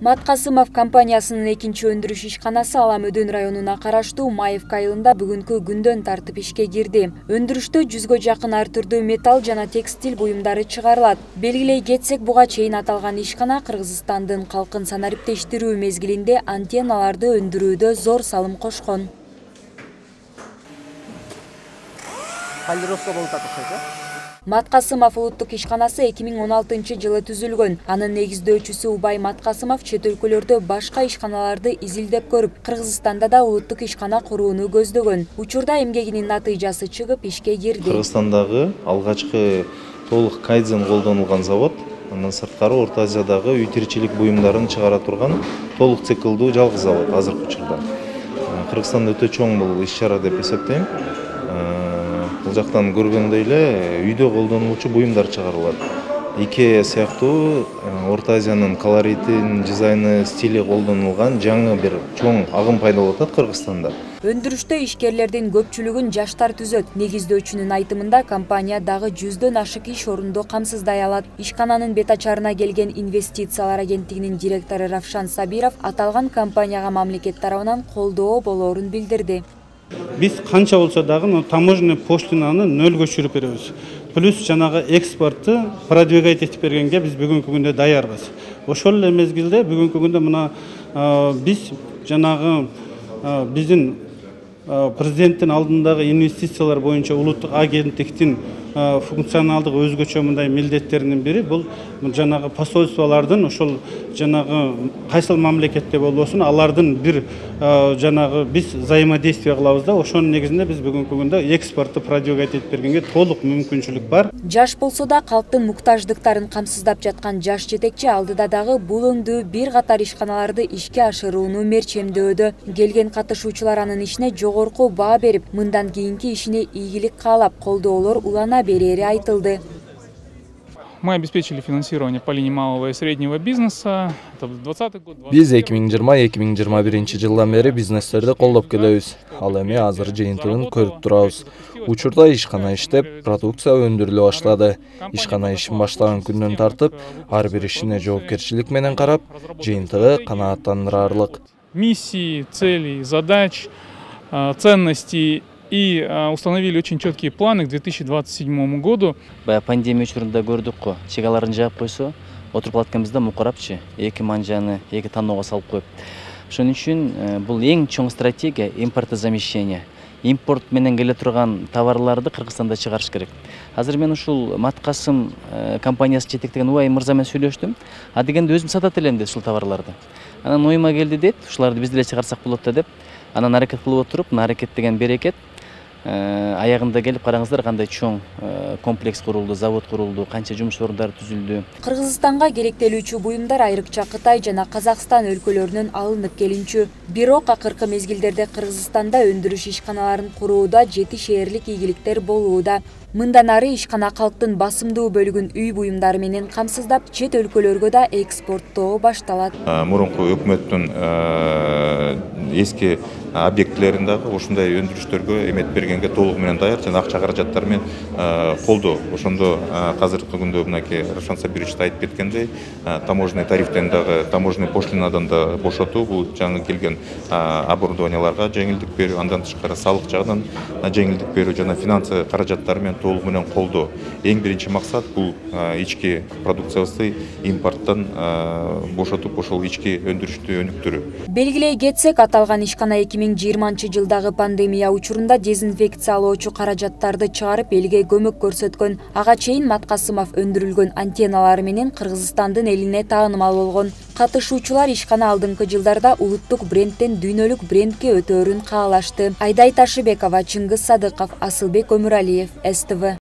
Маткасымов компаниясынын экинчи өндүрүш ишканасы Ала Мөдөн районуна караштуу Маевка айылында бүгүнкү күндөн тартып ишке кирди. Өндүрүштө 100га жакын ар түрдүү металл жана текстиль буюмдары чыгарылат. Белгилей кетсек, буга чейин аталган ишкана Кыргызстандын калкын санариптештирүү мезгилинде антенналарды өндүрүүдө зор салым кошкон. Маткасымов улуттук ишканасы 2016-жылы түзүлгөн. Анын негиздөөчүсү Убай Маткасымов чет өлкөлөрдө башка ишканаларды изилдеп көрүп, Кыргызстанда да улуттук ишкана курууну көздөгөн. Учурда эмгегинин натыйжасы чыгып, ишке кирди. Кыргызстандагы алгачкы толук кайдзен колдонулган завод, андан сырткары Орто Азиядагы үй тиричилик буюмдарын чыгара турган толук циклдуу жалгыз завод азыркы учурда. Кыргызстанда өтө чоң бул иш-чара деп эсептейм. Бул жактан көргөндөй эле үйдө колдонулуучу буюмдар чыгарылат. Икеа сыяктуу Орто Азиянын колоритин, дизайны, стили колдонулган жаңы бир чоң агым пайда болуп атат Кыргызстанда. Өндүрүштө ишкерлердин көпчүлүгүн жаштар түзөт. Негиздөөчүнүн айтымында компания дагы 100дөн ашык иш орунду камсыздай алат. Ишкананын бет ачарына келген инвестициялар агенттигинин директору Равшан Сабиров аталган компанияга мамлекет тарабынан колдоо болоорун билдирди. Биз канча болсо дагы таможенный пошлинаны нөлгө түшүрүп беребиз. Плюс жанагы экспортты продвигать этип бергенге биз бүгүнкү күндө даярбыз. Ошол эле мезгилде бүгүнкү күндө мына биз жанагы биздин президенттин алдындагы инвестициялар боюнча улуттук агенттиктин функционалдык өзгөчө мындай милдеттеринин бири бул жанагы посольстволордун ошол жанагы кайсыл мамлекетте болбосун алардын бир жанагы биз взаимодействие кылабыз да, ошонун негизинде биз бүгүнкү күндө экспортты продвигать этип бергенге толук мүмкүнчүлүк бар. Жаш болсо да калктын муктаждыктарын камсыздап жаткан жаш жетекчи алдыда дагы бул өңдүү бир катар ишканаларды ишке ашырууну мерчемдөөдө. Келген катышуучулар анын ишине жогорку баа берип, мындан кийинки ишине ийгилик каалап, колдоолор улана берери айтылды. Мы обеспечили финансирование по линии малого и среднего бизнеса. Это 2020 год. Биз 2020-2021 жылдан бери бизнестерди колдоп келебиз. Ал эми азыр жыйынтыгын көрүп турабыз. Учурда ишкана иштеп, продукция өндүрүлө баштады. Ишкана ишин баштаган күндөн тартып, ар бир ишине жоопкерчилик менен карап, жыйынтыгы канааттандырарлык. Миссии, целей, задач, ценностей. И установили очень четкие планы к 2027 году. Пандемия учурунда көрдүк го, чегаларын жаап койсо, отуруп атканыбызда мукарапчы, эки манжаны, эки таноого салып коюп. Ошон үчүн бул эң чоң стратегия импортозамещение. Импорт менен келе турган товарларды Кыргызстанда чыгарыш керек. Азыр мен ушул Маткасым компаниясы жетектеген Убай мырза менен сүйлөштүм. А дегенде өзүм сатат элем деп ушул товарларды. Анан оюма келди деп, ушуларды биз деле чыгарсак болот да деп. Анан аракет кылып отуруп, аракет деген берекет. Аягында келип караңыздар кандай чоң комплекс курулду, завод курулду, канча жумуш орундары түзүлдү. Кыргызстанга керектелүүчү буюмдар айрыкча Кытай жана Казакстан өлкөлөрүнөн алынып келинчү. Бирок акыркы мезгилдерде Кыргызстанда өндүрүш ишканаларын курууда жетишээрлик ийгиликтер болууда. Мындан ары ишкана калктын басымдуу бөлүгүн үй буюмдары менен камсыздап, чет өлкөлөргө да экспорттоо башталат. Мурунку өкмөттүн эски объектилерин дагы ушундай өндүрүштөргө эмет бергенге толугу менен даяр жана акча каражаттар менен колдоо. Ошондо азыркы күндө мынакей Равшан Сабирович айтып кеткендей, таможенный тарифтен дагы, таможенный пошлинадан да бошотуу, бул жаңы келген оборудованияларга жеңилдик берүү, андан тышкары салык жагынан жеңилдик берүү жана финансы каражаттары менен толугу менен колдоо. Эң биринчи максат бул ички продукциябызды импорттон бошотуп, ошол ички өндүрүштү өнүктүрүү. Белгилей кетсек, аталган ишкана 2020-жылдагы пандемия учурунда дезинфекциялоочу каражаттарды чыгарып элге көмөк көрсөткөн. Ага чейин Маткасымов өндүрүлгөн антенналары менен Кыргызстандын элине таанымал болгон. Катышуучулар ишкана алдыңкы жылдарда улуттук брендтен дүйнөлүк брендке өтөөрүн каалашты. Айдай Ташыбекова, Чыңгыз Садыков, Асылбек Өмүралиев, СТВ.